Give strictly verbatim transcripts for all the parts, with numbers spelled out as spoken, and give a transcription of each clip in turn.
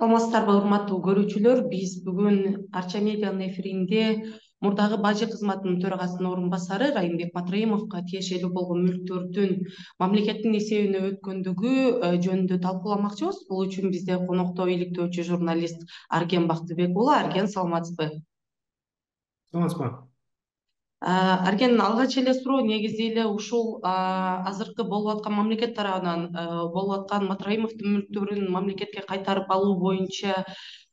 Саламатсыздарбы, урматтуу көрүүчүлөр. Биз бүгүн Арча медианын эфиринде мурдагы бажы кызматынын төрагасынын орун басары Райымбек Матраимовго тиешелүү болгон мүлктөрдүн мамлекеттин эсебине өткөндүгү э, жөнүндө талкууламакчыбыз. Бул үчүн бизде конокто иликтөөчү журналист Арген Бактыбек уулу. Арген, саламатсызбы? Саламатсызбы? Арген, алгач эле суроо негизи эле ушул азыркы болуп аткан мамлекет тарабынан болуп аткан Матраимовдун мүлктөрүн мамлекетке кайтарып алуу боюнча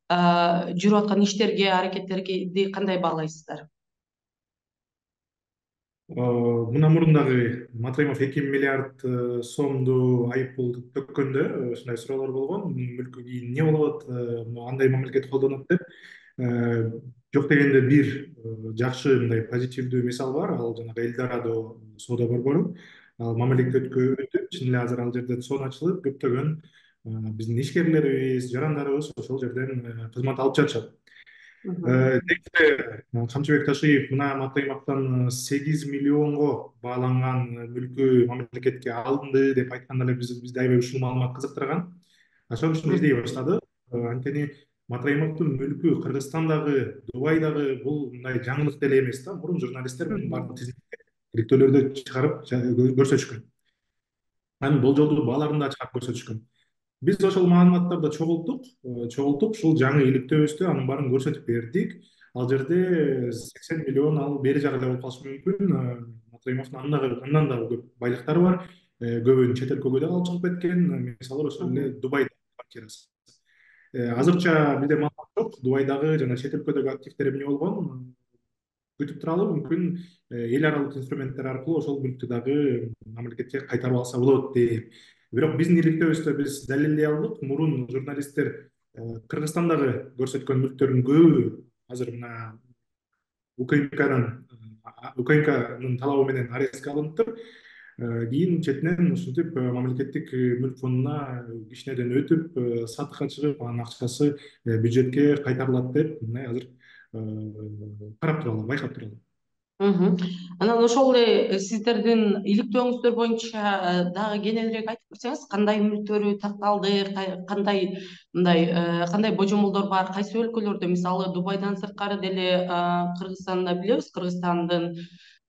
жүрүп аткан иштерге, аракеттерди кандай баалайсыздар? Мына мурун дагы Матраимов эки миллиард сомду айып пул төккөндө ушундай суроолор болгон. Мүлкү кийин эмне болот, андай мамлекет колдонот деп. Жок дегенде бир жакшы мындай позитивдүү мисал бар. Ал жанагы Эльдорадо соода борбору. Ал мамлекетке өтүп, чын эле азыр ал жерде сон ачылып, көптөгөн биздин ишкерлерибиз, жарандарыбыз ошол жерден кызмат алып жатышат. Негизинде Камчыбек Ташиев мына Матраимовдон сегиз миллионго бааланган мүлкү мамлекетке алынды деп айтканда эле бизди аябай ушул маалымат кызыктырган. Ошон үчүн издей баштадык. Анткени Матраимовдун мүлкү Кыргызстандагы, Дубайдагы бул мындай жаңылык деле эмес да. Мурун журналисттер мунун баардык тизимге иликтөөлөрдө чыгарып көрсөтүшкөн. Анын болжолдуу бааларын да чыгарып көрсөтүшкөн. Биз ошол маалыматтарды чогулттук, чогултуп ушул жаңы иликтөөбүздө анын баарын көрсөтүп бердик. Ал жерде сексен миллион ал бери жагы эле болуп калышы мүмкүн. Матраимовдун андан дагы көп байлыктары бар. Көбүн чет өлкөгө да алып чыгып кеткен. Мисалы ошол эле Дубайда квартирасы. Азырча бизде маалымат жок. Дубайдагы жана чет өлкөдөгү активдери эмне болгон күтүп туралы, мүмкүн эл аралык инструменттер аркылуу ошол мүлктү дагы мамлекетке кайтарып алса болот деп. Бирок биздин иликтөөбүздө биз далилдей алдык. Мурун журналисттер Кыргызстандагы көрсөткөн мүлктөрдүн көбү азыр мына УКМКнын УКМКнын талабы менен арестке алыныптыр. Кийин четинен ушинтип мамлекеттик мүлк фондуна кичинеден өтүп, сатыкка чыгып, анын акчасы бюджетке кайтарылат деп мына азыр карап туралы, байкап туралы. Анан ошол эле сиздердин иликтөөңүздөр боюнча дагы кененирээк айтып берсеңиз, кандай мүлктөрү такталды, кандай мындай кандай божомолдор бар, кайсы өлкөлөрдө, мисалы Дубайдан сырткары деле Кыргызстанда билебиз, Кыргызстандын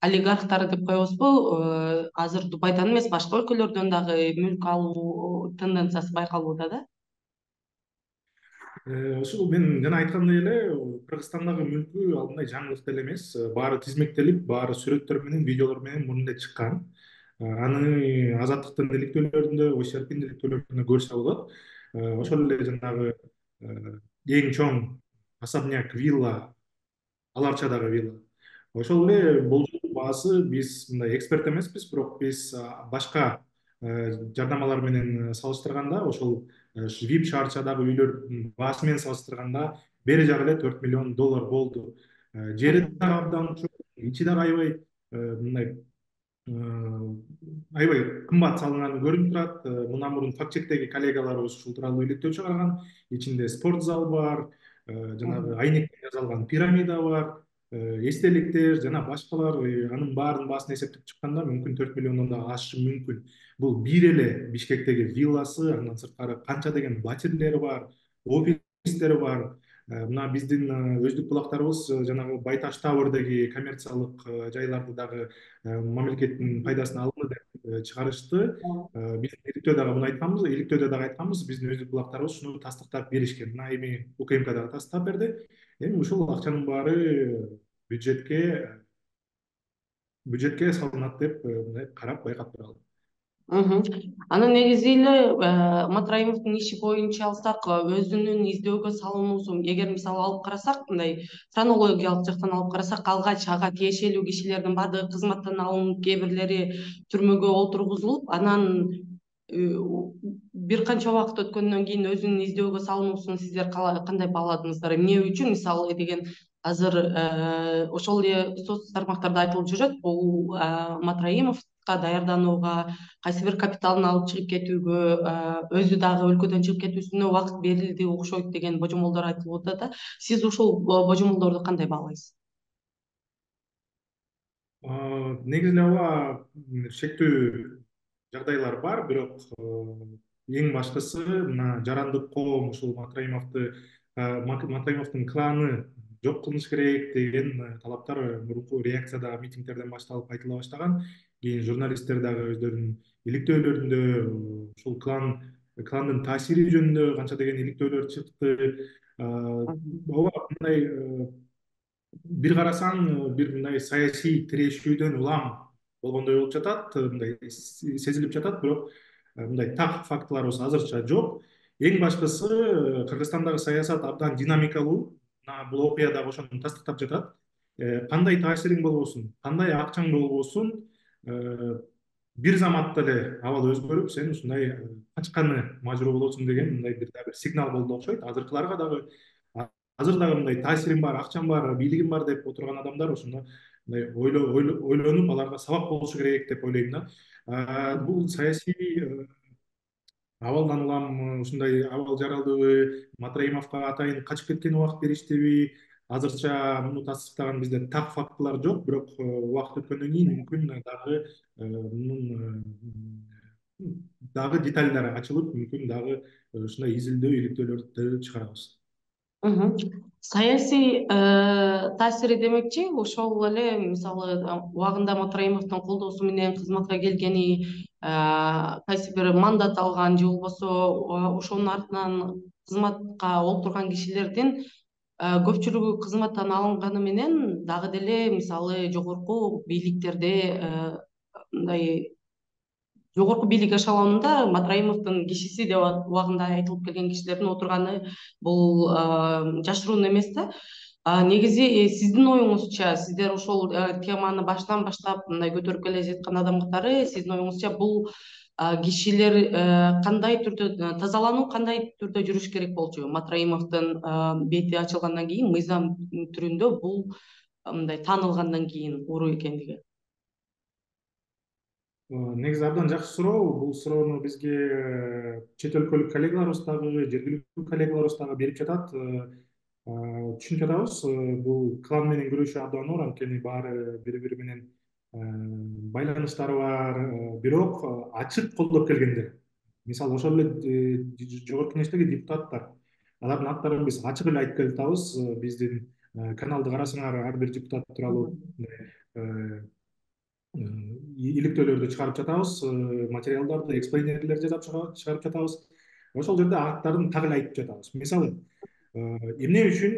олигархтары деп коебузбу, азыр Дубайдан эмес, башка өлкөлөрдөн дагы мүлк алуу тенденциясы байкалууда да. Ушул мен жана айткандай эле Кыргызстандагы мүлкү ал мындай жаңылык деле эмес. Баары тизмектелип, баары сүрөттөр менен, видеолор менен мурун эле чыккан. Аны Азаттыктын иликтөөлөрүндө, Ой Серпиндин иликтөөлөрүндө көрсө болот. Ошол эле жанагы эң чоң особняк, вилла, Ал Арчадагы вилла. Ошол эле болжол баасы биз мындай эксперт эмеспиз, бирок биз башка жарнамалар менен салыштырганда, ошол Вип шаарчадагы үйлөрдүн баасы менен салыштырганда бери жагы эле төрт миллион доллар болду. Жери дагы абдан чоң, ичи дагы аябай мындай аябай кымбат салынганы көрүнүп турат. Мындан мурун факт чектеги коллегаларыбыз ушул тууралуу иликтөө чыгарган. Ичинде спорт зал бар, жанагы айнекте жасалган пирамида бар, эстеликтер жана башкалар. Анын баарынын баасын эсептеп чыкканда мүмкүн төрт миллиондон да ашышы мүмкүн. Бул бир эле Бишкектеги вилласы, андан сырткары канча деген батирлери бар, офистери бар. Мына биздин өздүк булактарыбыз жанагы Байташ Тауэрдеги коммерциялык жайларды дагы мамлекеттин пайдасына алынды деп чыгарышты. Биз иликтөөдө дагы муну айтканбыз, иликтөөдө дагы айтканбыз, биздин өздүк булактарыбыз шуну тастыктап беришкен. Мына эми УКМК дагы тастыктап берди. Эми ушул акчанын баары бюджетке бюджетке салынат деп мындай карап байкап туралы. Анан негизи эле Матраимовдун иши боюнча алсак, өзүнүн издөөгө салынуусу, эгер мисалы алып карасак, мындай хронологиялык жактан алып карасак, алгач ага тиешелүү кишилердин баардыгы кызматтан алынып, кээ бирлери түрмөгө отургузулуп, анан бир канча убакыт өткөндөн кийин өзүнүн издөөгө салынуусун сиздер кандай бааладыңыздар? Эмне үчүн, мисалы деген азыр ошол эле соц тармактарда айтылып жүрөт, бул Матраимовго даярданууга, кайсы бир капиталын алып чыгып кетүүгө, өзү дагы өлкөдөн чыгып кетүүсүнө убакыт берилди окшойт деген божомолдор айтылып атат да. Сиз ушул божомолдорду кандай баалайсыз? Негизи эле ооба шектүү жагдайлар бар, бирок эң башкысы мына жарандык коом ушул Матраимовду Матраимовдун кланы жок кылыш керек деген талаптар мурунку реакцияда митингдерден башталып айтыла баштаган. Кийин журналисттер дагы өздөрүнүн иликтөөлөрүндө ушул клан кландын таасири жөнүндө канча деген иликтөөлөр чыкты. Ооба, мындай бир карасаң бир мындай саясий тирешүүдөн улам болгондой болуп жатат, мындай сезилип жатат, бирок мындай так фактыларыбыз азырча жок. Эң башкысы Кыргызстандагы саясат абдан динамикалуу. Бул окуя дагы ошону тастыктап жатат. Кандай таасириң болбосун, кандай акчаң болбосун, бир заматта эле абал өзгөрүп, сен ушундай качканы мажбур болосуң деген мындай бир да бир сигнал болду окшойт. Азыркыларга дагы азыр дагы мындай таасирим бар, акчам бар, бийлигим бар деп отурган адамдар ошондо мындай ойлонуп, аларга сабак болушу керек деп ойлойм да. Бул саясий абалдан улам ушундай абал жаралдыбы, Матраимовго атайын качып кеткен убакыт бериштиби, азырча муну тастыктаган бизде так фактылар жок, бирок убакыт өткөндөн кийин мүмкүн дагы мунун дагы детальдары ачылып, мүмкүн дагы ушундай изилдөө иликтөөлөрдү чыгарабыз. Саясий таасири демекчи, ошол эле мисалы убагында Матраимовдун колдоосу менен кызматка келгени, кайсы бир мандат алган же болбосо ошонун артынан кызматка олтурган кишилердин көпчүлүгү кызматтан алынганы менен дагы деле мисалы жогорку бийликтерде мындай жогорку бийлик эшелонунда Матраимовдун кишиси деп убагында айтылып келген кишилердин отурганы бул жашыруун эмес да. Негизи сиздин оюңузча, сиздер ошол теманы баштан баштап мындай көтөрүп келе жаткан адам катары, сиздин оюңузча бул кишилер кандай түрдө тазалануу кандай түрдө жүрүш керек болчу? Матраимовдун бети ачылгандан кийин, мыйзам түрүндө бул мындай таанылгандан кийин уруу экендиги. Негизи абдан жакшы суроо. Бул суроону бизге чет өлкөлүк коллегаларыбыз дагы, жергиликтүү коллегаларыбыз дагы берип жатат. Түшүнүп жатабыз, бул клан менен күрөшүү абдан оор, анткени баары бири-бири менен байланыштары бар, бирок ачык колдоп келгендер. Мисалы ошол эле жогорку кеңештеги депутаттар, алардын аттарын биз ачык эле айтып келатабыз. Биздин каналды карасаңар, ар бир депутат тууралуу иликтөөлөрдү чыгарып жатабыз, материалдарды, эксплейнерлерди жазып чыгарып жатабыз. Ошол жерде аттарын так эле айтып жатабыз. Мисалы, эмне үчүн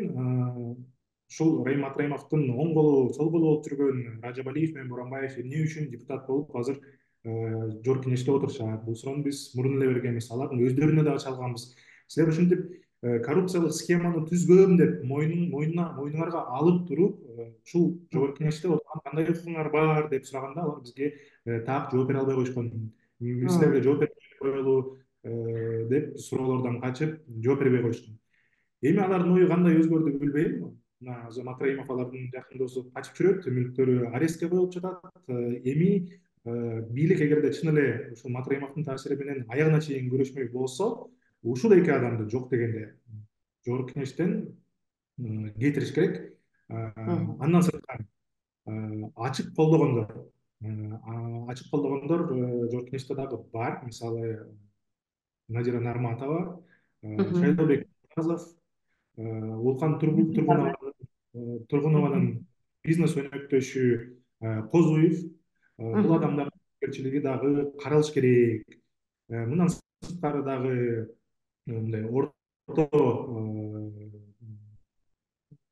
ушул Райым Матраимовдун оң колу, сол колу болуп жүргөн Ражабалиев менен Боранбаев эмне үчүн депутат болуп азыр жогорку кеңеште отурушат? Бул суроону биз мурун эле бергенбиз, алардын өздөрүнө дагы чалганбыз. Силер ушинтип коррупциялык схеманы түзгөм деп мойнуна мойнуңарга алып туруп, ушул жогорку кеңеште кандай укугуңар бар деп сураганда, алар бизге так жооп бере албай коюшкан. Силерге жооп бербей коелу деп суроолордон качып жооп бербей коюшкан. Эми алардын ою кандай өзгөрдү билбейм. Мына Матраимов алардын жакын досу качып жүрөт, мүлктөрү арестке коюлуп жатат. Эми бийлик эгерде чын эле ушул Матраимовдун таасири менен аягына чейин күрөшмөй болсо, ушул эки адамды жок дегенде жогорку кеңештен кетириш керек. Андан сырткары ачык колдогондор, ачык колдогондор жогорку кеңеште дагы бар. Мисалы Надира Нарматова, Шайлообек Муратов, Улкан Тургунованын бизнес өнөктөшү Козуев, бул адамдардын жоопкерчилиги дагы каралыш керек. Мындан сырткары дагы мындай орто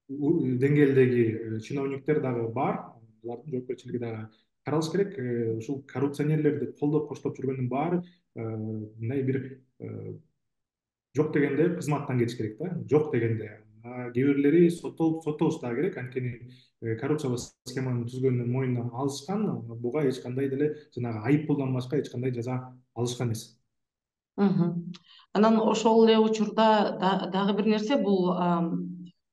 деңгээлдеги чиновниктер дагы бар, алардын жоопкерчилиги дагы каралыш керек. Ушул коррупционерлерди колдоп коштоп жүргөндүн баары мындай бир жок дегенде кызматтан кетиш керек да, жок дегенде. Кээ бирлери соттолуш дагы керек, анткени коррупциялык схеманы түзгөндүн мойнуна алышкан, буга эч кандай деле жанагы айып пулдан башка эч кандай жаза алышкан эмес. Анан ошол эле учурда дагы бир нерсе, бул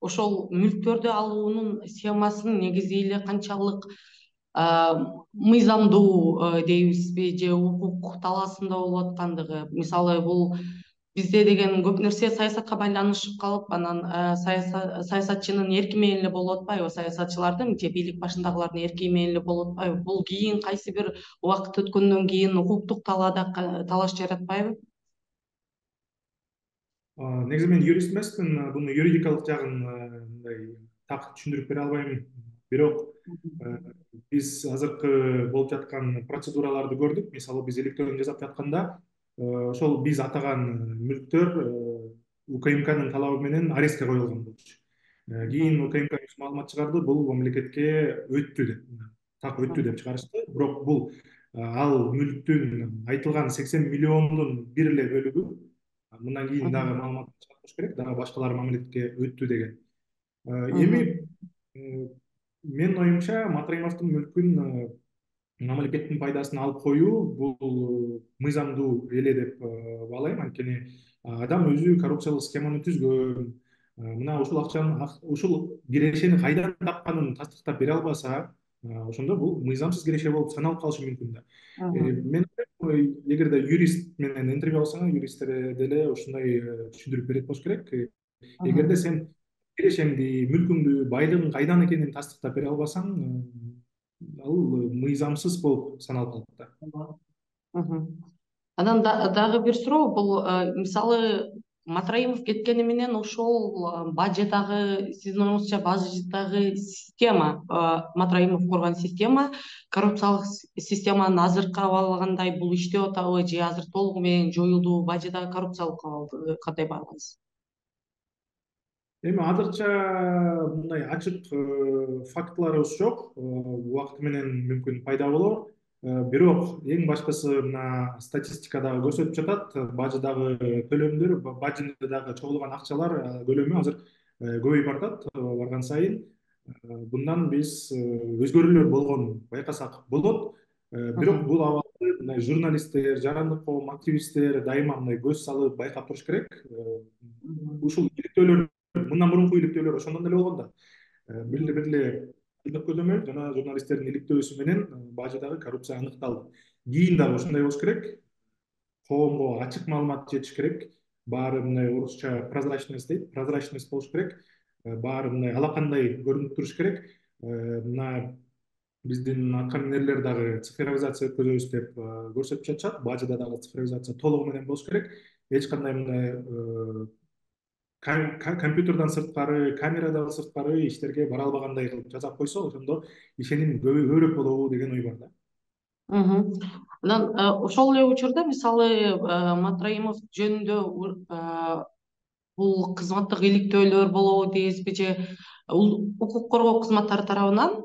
ошол мүлктөрдү алуунун схемасынын негизи эле канчалык мыйзамдуу дейбизби, же укук талаасында болуп аткандыгы. Мисалы бул бизде деген көп нерсе саясатка байланышып калып, анан саясатчынын эрки менен эле болуп атпайбы, саясатчылардын же бийлик башындагылардын эрки менен эле болуп атпайбы? Бул кийин кайсы бир убакыт өткөндөн кийин укуктук талаада талаш жаратпайбы? Негизи мен юрист эмесмин, буну юридикалык жагын мындай так түшүндүрүп бере албайм. Бирок биз азыркы болуп жаткан процедураларды көрдүк. Мисалы биз электронный жасап жатканда ошол биз атаган мүлктөр УКМКнын талабы менен арестке коюлган болчу. Кийин УКМК өз маалымат чыгарды, бул мамлекетке өттү деп, так өттү деп чыгарышты. Бирок бул ал мүлктүн айтылган сексен миллиондун бир эле бөлүгү мындан кийин дагы маалымат чыгарыш керек, дагы башкалар мамлекетке өттү деген. Эми менин оюмча Матраимовдун мүлкүн мамлекеттин пайдасына алып коюу бул мыйзамдуу эле деп баалайм. Анткени адам өзү коррупциялык схеманы түзгөн, мына ушул акчанын ушул кирешени кайдан тапканын тастыктап бере албаса, ошондо бул мыйзамсыз киреше болуп саналып калышы мүмкүн да. Мен эгерде юрист менен интервью алсаң, юристтер деле ушундай түшүндүрүп берет болуш керек. Эгерде сен кирешеңди, мүлкүңдү, байлыгың кайдан экенин тастыктап бере албасаң, ал мыйзамсыз болуп саналып калат да. Анан дагы бир суроо, бул мисалы Матраимов кеткени менен ошол баждагы, сиздин оюңузча баждагы система, Матраимов курган система, коррупциялык системанын азыркы абалы кандай, бул иштеп атабы же азыр толугу менен жоюлдубу, баждагы коррупциялык абалды кандай баалайсыз? Эми азырча мындай ачык фактыларыбыз жок. Убакыты менен мүмкүн пайда болор. Бирок эң башкысы мына статистикада көрсөтүп жатат, баждагы төлөмдөр, баждагы чогулган акчалар көлөмү азыр көбөйүп баратат барган сайын. Bundan биз өзгөрүүлөр болгонун байкасак болот. Бирок бул абалды мындай журналисттер, жарандык коом активисттер дайыма мындай көз салып байкап туруш керек. Ушул иликтөөлөр, мындан мурунку иликтөөлөр ошондон эле болгон да. Бир эле бир эле көзөмөл жана журналисттердин иликтөөсү менен баждагы коррупция аныкталды. Кийин дагы ушундай болуш керек. Коомго ачык маалымат жетиш керек. Баары мындай орусча прозрачность дейт, прозрачность болуш керек. Баары мындай алакандай көрүнүп туруш керек. Мына биздин аткаминерлер дагы цифровизация өткөзөбүз деп көрсөтүп жатышат. Бажда дагы цифровизация толугу менен болуш керек. Эч кандай мындай компьютерден сырткары, камерадан сырткары иштерге бара албагандай кылып жасап койсо, ошондо ишеним көбүрөөк болобу деген ой бар да. Анан ошол эле учурда мисалы Матраимов жөнүндө бул кызматтык иликтөөлөр болобу дейсизби же укук коргоо кызматтары тарабынан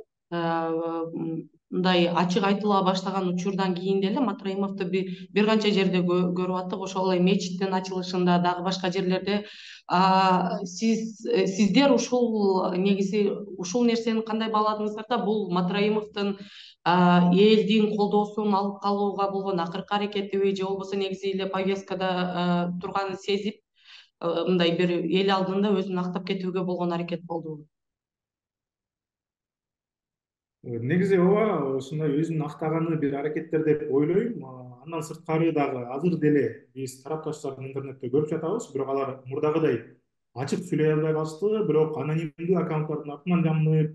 мындай ачык айтыла баштаган учурдан кийин деле Матраимовду бир канча жерде көрүп аттык, ошол эле мечиттин ачылышында, дагы башка жерлерде. Сиз сиздер ушул негизи ушул нерсени кандай бааладыңыздар да, бул Матраимовдун элдин колдоосун алып калууга болгон акыркы аракетиби же болбосо негизи эле повесткада турганын сезип мындай бир эл алдында өзүн актап кетүүгө болгон аракет болдубу? Негизи ооба, ушундай өзүн актаганы бир аракеттер деп ойлойм. Андан сырткары дагы азыр деле биз тарапташтарды интернетте көрүп жатабыз, бирок алар мурдагыдай ачык сүйлөй албай калышты, бирок анонимдүү аккаунттардын артынан жамынып,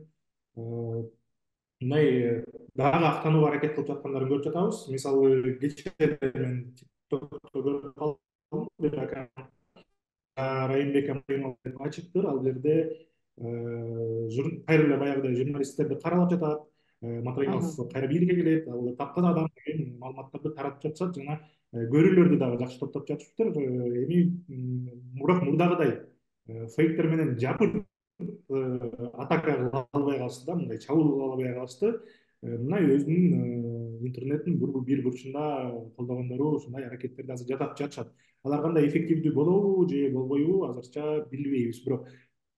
мындай дагы актанууга аракет кылып жаткандарын көрүп жатабыз. Мисалы кечээ мен TikTokто көрүп калдым, бир аккаунт Райымбек Амаримов деп ачыктыр. Ал жерде кайра эле баягыдай журналисттерди каралап жатат. Матраимов кайра бийликке келет, ал таптаза адам деген маалыматтарды таратып жатышат жана көрүүлөрдү дагы жакшы топтоп жатышыптыр. Эми бирок мурдагыдай фейктер менен жапыр атака кыла албай калышты да, мындай чабуул кыла албай калышты. Мына өзүнүн интернеттин бир бурчунда колдогондору ушундай аракеттерди азыр жасап жатышат. Алар кандай эффективдүү болобу же болбойбу азырча билбейбиз, бирок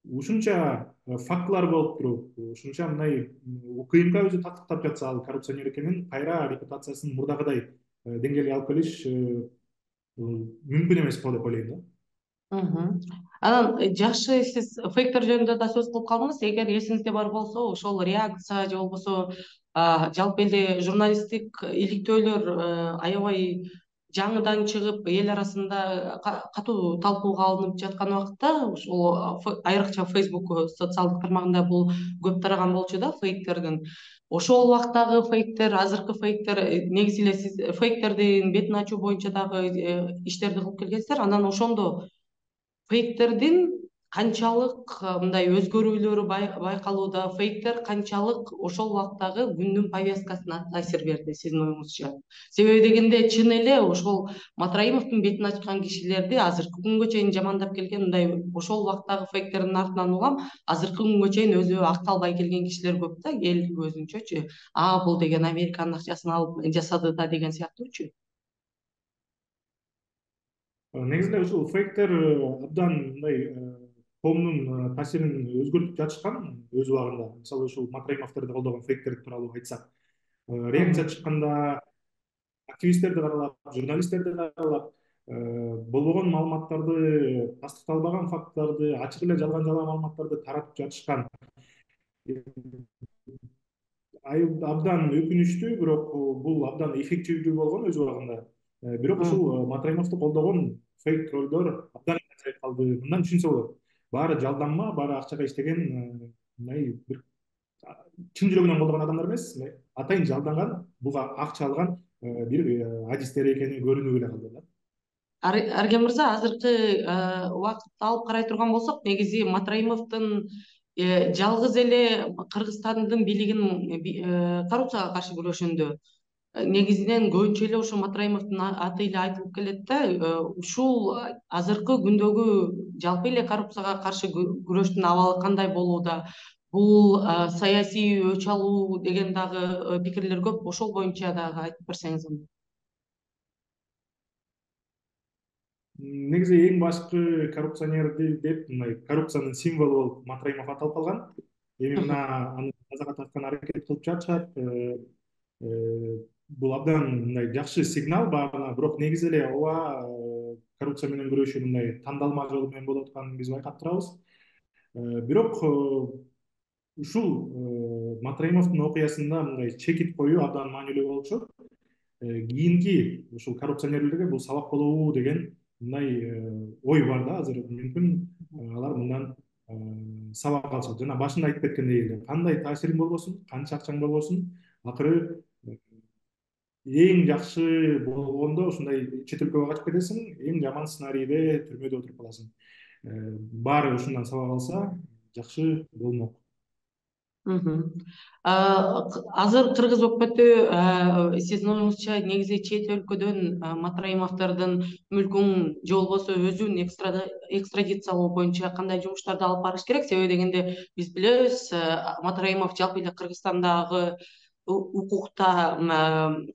ушунча фактылар болуп туруп, ушунча мындай УКМК өзү тастыктап жатса ал коррупционер экенин, кайра репутациясын мурдагыдай деңгээлге алып келиш мүмкүн эмес го деп ойлойм да. Анан жакшы, сиз фейктер жөнүндө да сөз кылып калдыңыз. Эгер эсиңизде бар болсо, ошол реакция же болбосо жалпы эле журналисттик иликтөөлөр аябай жаңыдан чыгып, эл арасында катуу талкууга алынып жаткан убакытта, ошол айрыкча Facebook социалдык тармагында бул көп тараган болчу да, фейктердин. Ошол убактагы фейктер, азыркы фейктер, негизи эле сиз фейктердин бетин ачуу боюнча дагы иштерди кылып келгенсиздер. Анан ошондо фейктердин канчалык мындай өзгөрүүлөрү байкалууда, фейктер канчалык ошол убактагы күндүн повесткасына таасир берди сиздин оюңузча? Себеби дегенде чын эле ошол Матраимовдун бетин ачкан кишилерди азыркы күнгө чейин жамандап келген, мындай ошол убактагы фейктердин артынан улам азыркы күнгө чейин өзү акталбай келген кишилер көп да, эл көзүнчөчү. А бул деген Американын акчасын алып жасады да деген сыяктуучу. Негизинде ушул фейктер абдан мындай коомдун таасирин өзгөртүп жатышкан өз убагында. Мисалы ушул Матраимовдорду колдогон фейктер тууралуу айтсак, реакция чыкканда активисттерди каралап, журналисттерди каралап, болбогон маалыматтарды, тастыкталбаган факттарды, ачык эле жалган жалаа маалыматтарды таратып жатышкан. Абдан өкүнүчтүү, бирок бул абдан эффективдүү болгон өз убагында. Бирок ушул Матраимовду колдогон фейк троллдор абдан азайып калды. Мындан түшүнсө болот. Баары жалданма, баары акчага иштеген, мындай бир чын жүрөгүнөн колдогон адамдар эмес, атайын жалданган, буга акча алган бир адистер экени көрүнүп эле калды да. Арген мырза, азыркы убакытты алып карай турган болсок, негизи Матраимовдун жалгыз эле Кыргызстандын бийлигин коррупцияга каршы күрөшүндө негизинен көбүнчө эле ошо Матраимовдун аты эле айтылып келет да. Ушул азыркы күндөгү жалпы эле коррупцияга каршы күрөштүн абалы кандай болууда? Бул саясий өч алуу деген дагы пикирлер көп. Ошол боюнча дагы айтып берсеңиз. Негизи эң башкы коррупционерди деп, мындай коррупциянын символу болуп Матраимов аталып калган. Эми мына аны казага тарткан аракет кылып жатышат. Бул абдан мындай жакшы сигнал баарына, бирок негизи эле ооба коррупция менен күрөшүү мындай тандалма жолу менен болуп атканын биз байкап турабыз. Бирок ушул Матраимовдун окуясында мындай чекит коюу абдан маанилүү болуп чыгат. Кийинки ушул коррупционерлерге бул сабак болобу деген мындай ой бар да азыр. Мүмкүн алар мындан сабак алышат. Жана башында айтып кеткендей эле, кандай таасириң болбосун, канча акчаң болбосун, акыры эң жакшы болгондо ушундай чет өлкөгө качып кетесиң, эң жаман сценарийде түрмөдө отуруп каласың. Баары ушундан сабак алса жакшы болмок. Азыр кыргыз өкмөтү сиздин оюңузча негизи чет өлкөдөн Матраимовдордун мүлкүн же болбосо өзүн экстрадициялоо боюнча кандай жумуштарды алып барыш керек? Себеби дегенде биз билебиз, Матраимов жалпы эле Кыргызстандагы укукта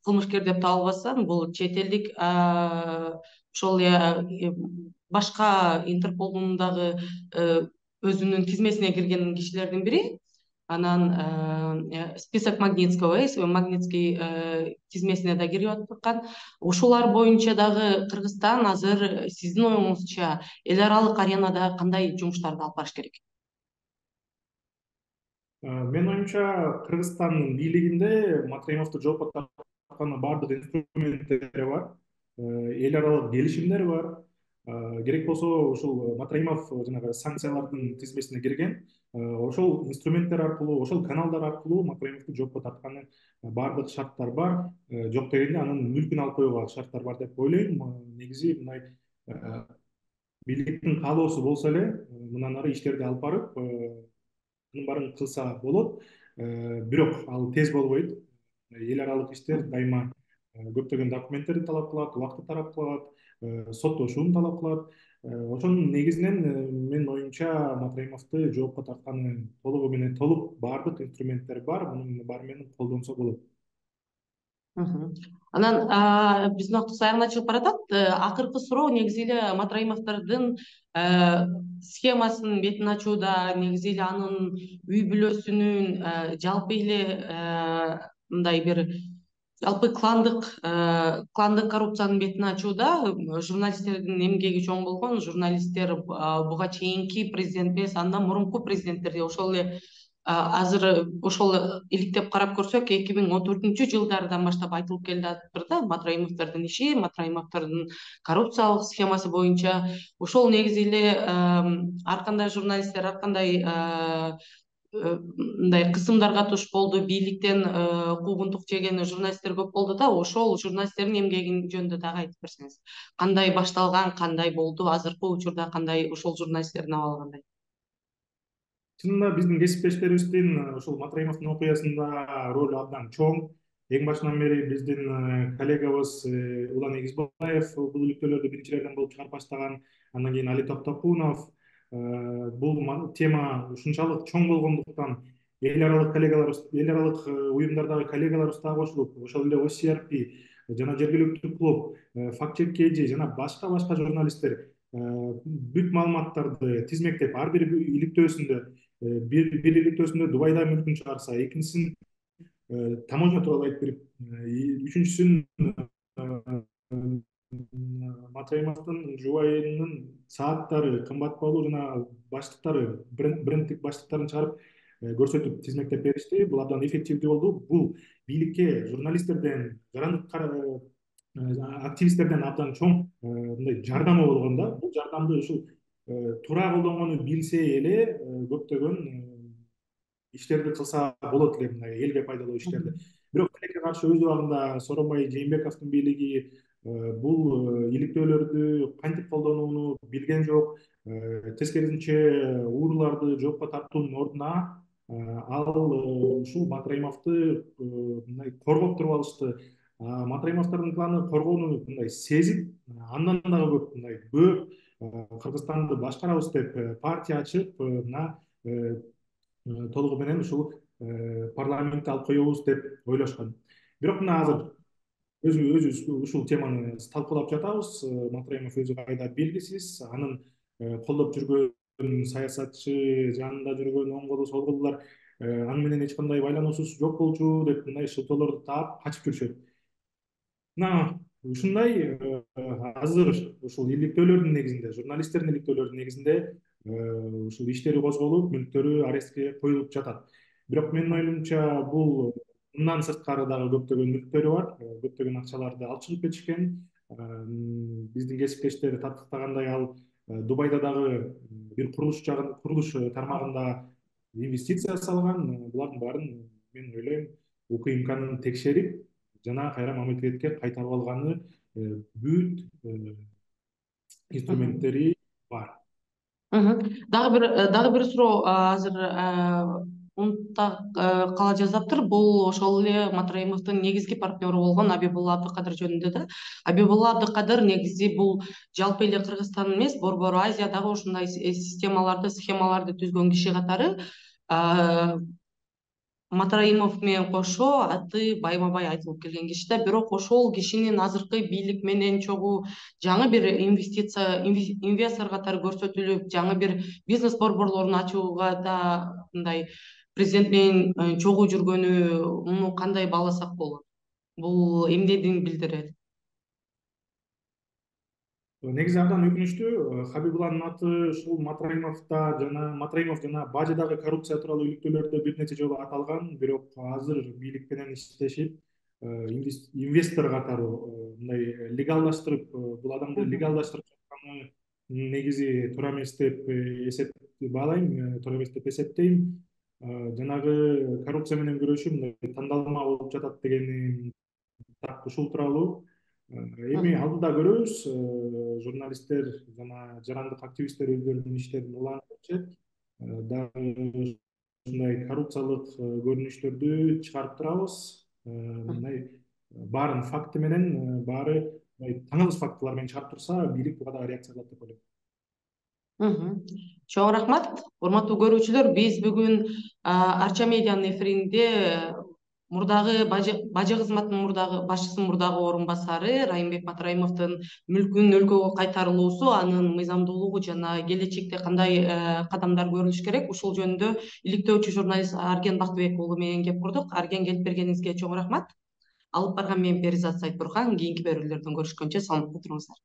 кылмышкер деп табылбастан, бул чет элдик ошол эле башка Интерполдун дагы өзүнүн тизмесине кирген кишилердин бири. Анан список Магнитского, Магнитский тизмесине да кирип аткан. Ушулар боюнча дагы Кыргызстан азыр сиздин оюңузча эл аралык аренада кандай жумуштарды алып барыш керек? Менин оюмча, Кыргызстандын бийлигинде Матраимовду жоопко тарткан бардык инструменттери бар, эл аралык келишимдер бар. Керек болсо ушул Матраимов жанагы санкциялардын тизмесине кирген. Ошол инструменттер аркылуу, ошол каналдар аркылуу Матраимовду жоопко тартканы бардык шарттар бар. Жок дегенде анын мүлкүн алып коюуга шарттар бар деп ойлойм. Негизи мындай бийликтин каалоосу болсо эле мындан ары иштерди алып барып, анын баарын кылса болот. Бирок ал тез болбойт. Эл аралык иштер дайыма көптөгөн документтерди талап кылат, убакытты талап кылат, соттошууну талап кылат. Ошонун негизинен менин оюмча Матраимовду жоопко тартканы толугу менен толук бардык инструменттер бар, мунун баары менен колдонсо болот. Анан биздин убактыбыз аягына чыгып баратат. Акыркы суроо негизи эле Матраимовдордун схемасынын бетин ачууда, негизи эле анын үй бүлөсүнүн жалпы эле мындай бир жалпы кландык кландык коррупциянын бетин ачууда журналисттердин эмгеги чоң болгон. Журналисттер буга чейинки президент эмес, андан мурунку президенттерди ошол эле азыр ошол иликтеп карап көрсөк, эки миң он төртүнчү жылдардан баштап айтылып келатыр да Матраимовдордун иши, Матраимовдордун коррупциялык схемасы боюнча. Ошол негизи эле ар кандай журналисттер, ар кандай мындай кысымдарга туш болду, бийликтен куугунтук жеген журналисттер көп болду да, ошол журналисттердин эмгеги жөнүндө дагы айтып берсеңиз. Кандай башталган, кандай болду, азыркы учурда кандай ошол журналисттердин абалы кандай? Чынында биздин кесиптештерибиздин ушул Матраимовдун окуясында ролу абдан чоң. Эң башынан бери биздин коллегабыз Улан Эгизбаев бул иликтөөлөрдү биринчилерден болуп чыгарып баштаган. Андан кийин Али Токтокунов. Бул тема ушунчалык чоң болгондуктан эл аралык коллегаларыбыз, эл аралык уюмдардагы коллегаларыбыз дагы кошулуп, ошол эле О С R P жана жергиликтүү клуб, Факт чек К Ж жана башка башка журналисттер бүт маалыматтарды тизмектеп, ар бир иликтөөсүндө бир бир иликтөөсүндө Дубайда мүлкүн чыгарса, экинчисин таможня тууралуу айтып берип, үчүнчүсүн Матраимовдун жубайынын сааттары, кымбат баалуу жана баштыктары, брендтик баштыктарын чыгарып көрсөтүп, тизмектеп беришти. Бул абдан эффективдүү болду. Бул бийликке журналисттерден, жарандык активисттерден абдан чоң мындай жардамы болгон да. Бул жардамды ушул туура колдонгону билсе эле көптөгөн иштерди кылса болот эле, мындай элге пайдалуу иштерди. Бирок тилекке каршы өз убагында Сооронбай Жээнбековдун бийлиги бул иликтөөлөрдү кантип колдонууну билген жок. Тескерисинче ууруларды жокко тартуунун ордуна ал ушул Матраимовду мындай коргоп туруп алышты. Матраимовдордун планы коргоону мындай сезип, андан дагы көп мындай көп Кыргызстанды башкарабыз деп партия ачып, мына толугу менен ушул парламентти алып коебуз деп ойлошкон. Бирок мына азыр өзүбүз ушул теманы талкуулап жатабыз. Матраимов өзү кайда белгисиз, анын колдоп жүргөн саясатчы, жанында жүргөн оң колу, сол колдулар аны менен эч кандай байлануусуз жок болчу деп мындай шылтоолорду таап качып жүрүшөт. Мына ушундай азыр ушул иликтөөлөрдүн негизинде, журналисттердин иликтөөлөрдүн негизинде ушул иштери козголуп, мүлктөрү арестке коюлуп жатат. Бирок менин оюмча бул мындан сырткары дагы көптөгөн мүлктөрү бар, көптөгөн акчаларды алып чыгып кетишкен. Биздин кесиптештер таттыктагандай, ал Дубайда дагы бир курулуш жагын, курулуш тармагында инвестиция салган. Булардын баарын мен ойлойм УКМКнын текшерип жана кайра мамлекетке кайтарып алганы бүт инструменттери бар. Дагы бир дагы бир суроо азыр унутта кала жазаптыр. Бул ошол эле Матраимовдун негизги партнеру болгон Абибулла Абдыкадыр жөнүндө да. Абибулла Абдыкадыр негизи бул жалпы эле Кыргызстан эмес, борбору Азиядагы ушундай системаларды, схемаларды түзгөн киши катары Матраимов менен кошо аты байма-бай айтылып келген киши да. Бирок ошол кишинин азыркы бийлик менен чогуу жаңы бир инвестиция инвестор катары көрсөтүлүп, жаңы бир бизнес борборлорун ачууга да мындай президент менен чогуу жүргөнү муну кандай бааласак болот? Бул эмнени билдирет? Негизи абдан өкүнүчтүү. Хабибулланын аты ушул Матраимовда жана Матраимов жана бажыдагы коррупция тууралуу иликтөөлөрдө бир нече жолу аталган. Бирок азыр бийлик менен иштешип, инвестор катары мындай легалдаштырып, бул адамды легалдаштырып жатканы негизи туура эмес деп эсептейм, баалайм, туура эмес деп эсептейм. Жанагы коррупция менен күрөшүү мындай тандалма болуп жатат дегени так ушул тууралуу. Эми алдыда көрөбүз, журналисттер жана жарандык активисттер өздөрүнүн иштерин улантып жатышат. Дагы ушундай коррупциялык көрүнүштөрдү чыгарып турабыз. Мындай баарын факты менен, баары таңылыс фактылар менен чыгарып турса, бийлик буга дагы реакция кылат деп ойлойм. Чоң рахмат. Урматтуу көрүүчүлөр, биз бүгүн Арча медианын эфиринде мурдагы бажы кызматынын мурдагы башчысынын мурдагы орун басары Райымбек Матраимовдун мүлкүнүн өлкөгө кайтарылуусу, анын мыйзамдуулугу жана келечекте кандай кадамдар көрүлүш керек, ушул жөнүндө иликтөөчү журналист Арген Бактыбек уулу менен кеп курдук. Арген, келип бергениңизге чоң рахмат. Алып барган мен Перизат Сайтбурхан. Кийинки берүүлөрдөн көрүшкөнчө саламатта туруңуздар.